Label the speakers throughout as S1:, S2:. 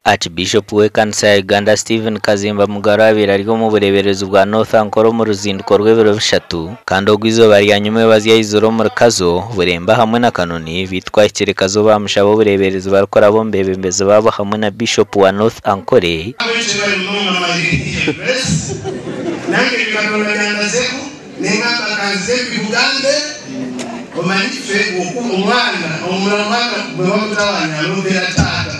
S1: Archbishop w'ekanisa ya Uganda Stephen Kazimba Mugalu abaire ari omu bureeberezi bwa North Ankole omu ruzinduko rw'ebiro bishatu kandi ogu eizooba rya nyomwebazyo aizire omuri Kazo, Buremba hamwe na Kanoni beitu ku ahikire Kazo baamushaba obureeberezi barikuraba omu beebembezi baabo hamwe na Bishop wa North Ankole.
S2: Abenshi bari munonga manyire Grace nange ebi Katonda byandazeku nengamba kanzize mbikugambe omanyi ffe oku omwana omwana bwebamutawanya alompera taata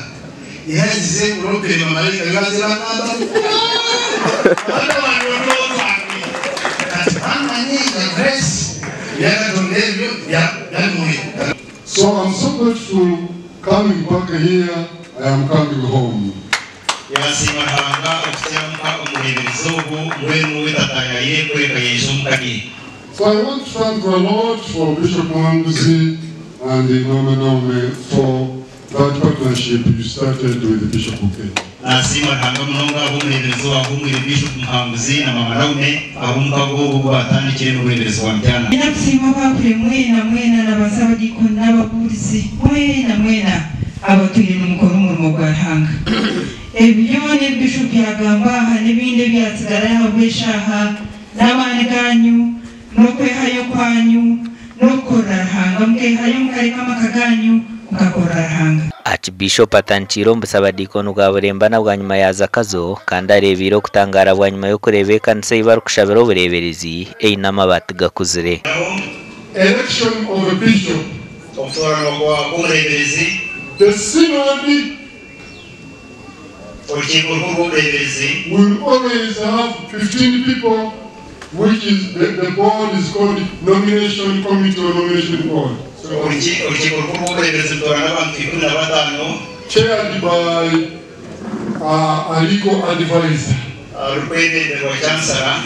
S2: era nzize nkulompere bamalaika bebaze bangamba mwana wange otulo twange kati bamanye nga Grace ebya Katonda ebyo byamuhe.
S3: So I'm so grateful coming back here, I am coming home.
S4: Yaasiima Ruhanga okutyamuka omureeberezi ogu mbwenu we tataayaayire kureka yaija omuka ye.
S3: So I want to thank the Lord for Bishop Muhanguzi and Mama Naome for that partnership you started with Bishop Bukenya.
S4: Naasiima Ruhanga munonga ahabw'omureeberezi owaahumwire Bishop Muhanguzi na Mama Naume ahabw'omukago ogu ogu baatandikire n'obureeberezi bwa Mityana.
S5: Nyine kusiima abakure mwena mwena n'abantu abadiikoni n'ababuurizi mwena mwena abatwire nimukora omurimo gwa Ruhanga. Ebi byona ebi Bishop yagamba aha n'ebindi ebyatsigara ahabw'eshaaha n'amaani ganyu n'okwehayo kwanyu n'okukorera Ruhanga mukehayo mukareka amaka ganyu mukakorera Ruhanga.
S1: Archbishop atandikiire omu busabadiikoni bwa Buremba na bwanyima yaaza Kazo kandi areebeire okutangaara bwanyima y'okureeba ekanisa ei barikushabira obureeberezi eine amabaati gakuzire.
S3: Election of a bishop.
S4: Okutooranwa kwa kw'omureeberezi.
S3: The synod.
S4: Orukiiko Orukuru rw'Obureeberezi.
S3: Will always have 15 people which is the, the board is called nomination committee or nomination board.
S4: Orukiiko Orukuru rw'Obureeberezi rutoorana abantu 15.
S3: Chaired by a legal advisor.
S4: Rurikwebemberwa Chancellor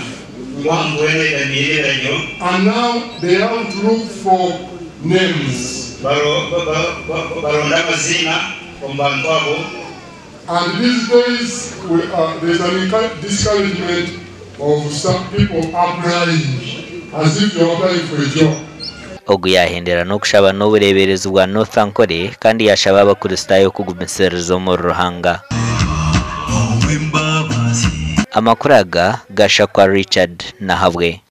S4: nk'omuntu weena oyegamiire ebiragiro.
S3: And now they have to look for names.
S4: Baronda amaziina omu bantu abo.
S3: And these days we are, there's an discouragement of some people applying as if you're applying for a job.
S1: Ogu yaahendera n'okushaba n'obureeberezi bwa North Ankole kandi yaashaba Abakristaayo kugumisiririza omuri Ruhanga. Amakuru aga gashakwa Richard Nahabwe.